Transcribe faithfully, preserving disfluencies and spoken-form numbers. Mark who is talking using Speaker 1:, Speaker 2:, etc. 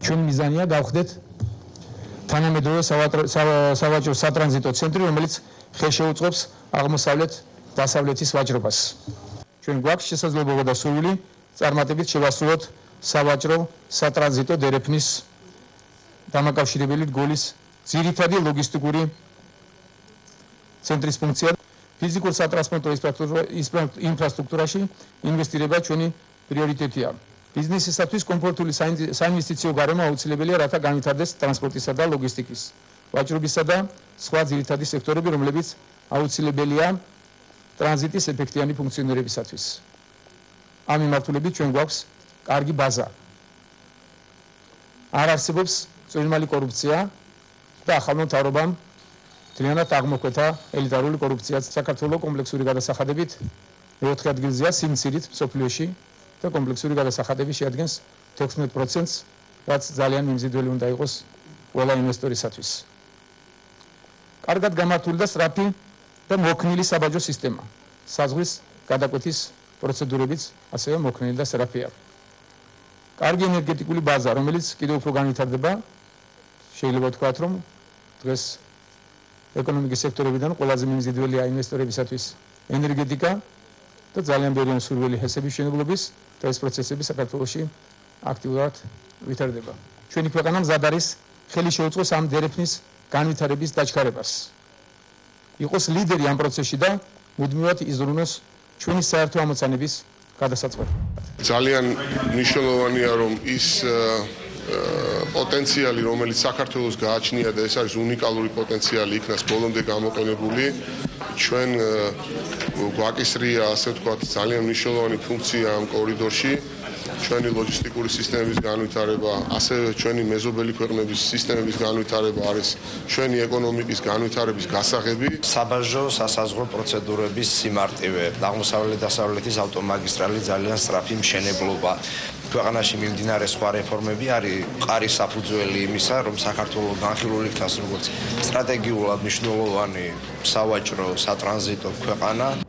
Speaker 1: ჩვენ მიზანია გავხდეთ თანამედროვე სავაჭრო სატრანზიტო ცენტრი, რომელიც ხელშეუწყობს აღმოსავლეთ დასავლეთის ვაჭრობას. ჩვენ გვაქვს შესაძლებლობა და სურვილი წარმატებით შევასრულოთ სავაჭრო სატრანზიტო დერეფნის დამაკავშირებელი რგოლის ძირითადი ლოგისტიკური ცენტრის ფუნქცია. ფიზიკურ სატრანსპორტო ინფრასტრუქტურაში ინვესტირება ჩვენი პრიორიტეტია. ბიზნესისათვის კომფორტული საინვესტიციო გარემო აუცილებელია, რათა განვითარდეს ტრანსპორტისა და ლოგისტიკის, ვაჭრობისა და სხვა ძირითადი სექტორები, რომლებიც აუცილებელია ტრანზიტის ეფექტიანი ფუნქციონირებისათვის. ამ მიმართულებით ჩვენ გვაქვს კარგი ბაზა. არ არსებობს წვრილმალი კორუფცია და ახალმა მთავრობამ მთლიანად აღმოქმეთა ელიტარული კორუფცია. საქართველოს კომპლექსური გადასახადებით მეოთხე ადგილზეა სიმცირით მსოფლიოში და კომპლექსური გადასახადები შეადგენს თექვსმეტ პროცენტს, რაც ძალიან მიმზიდველი უნდა იყოს ყველა ინვესტორისათვის. კარგად გამართული და სწრაფი და მოქნილი საბაჟო სისტემა. საზღვრის გადაკვეთის პროცედურებიც ასევე მოქნილი და სწრაფია. კარგი ენერგეტიკული ბაზა, რომელიც კიდევ უფრო განვითარდება, შეიძლება ვთქვათ, რომ დღეს ეკონომიკის სექტორებიდან ყველაზე მიმზიდველია ინვესტორებისათვის ენერგეტიკა და ძალიან ბევრი სურვილი ჰესების მშენებლობის და ეს პროცესები საქართველოში აქტიურად ვითარდება. ჩვენი ქვეყანა მზად არის ხელი შეუწყოს ამ დერეფნის განვითარების დაჩქარებას. იყოს ლიდერი ამ პროცესში და მუდმივად იზრუნოს ჩვენი საერთო ამოცანების გადასაწყვეტად.
Speaker 2: ძალიან მნიშვნელოვანია, რომ ის პოტენციალი, რომელიც საქართველოს გააჩნია და ეს არის უნიკალური პოტენციალი, იქნას ბოლომდე გამოყენებული. ჩვენ გვაკისრია, ასე ვთქვათ, ძალიან მნიშვნელოვანი ფუნქცია ამ კორიდორში. ჩვენი ლოჯისტიკური სისტემების განვითარება, ასევე ჩვენი მეზობელი ქვეყნების სისტემების განვითარება არის ჩვენი ეკონომიკის განვითარების გასაღები.
Speaker 3: საბაჟო სასაზღვრო პროცედურების სიმარტივე, აღმოსავლეთ დასავლეთის ავტომაგისტრალი ძალიან სწრაფი მშენებლობა. ქვეყანაში მიმდინარე სხვა რეფორმები არის მყარი საფუძველი იმისა, რომ საქართველოს განხილული იქნას როგორც სტრატეგიულად მნიშვნელოვანი სავაჭრო სატრანზიტო ქვეყანა.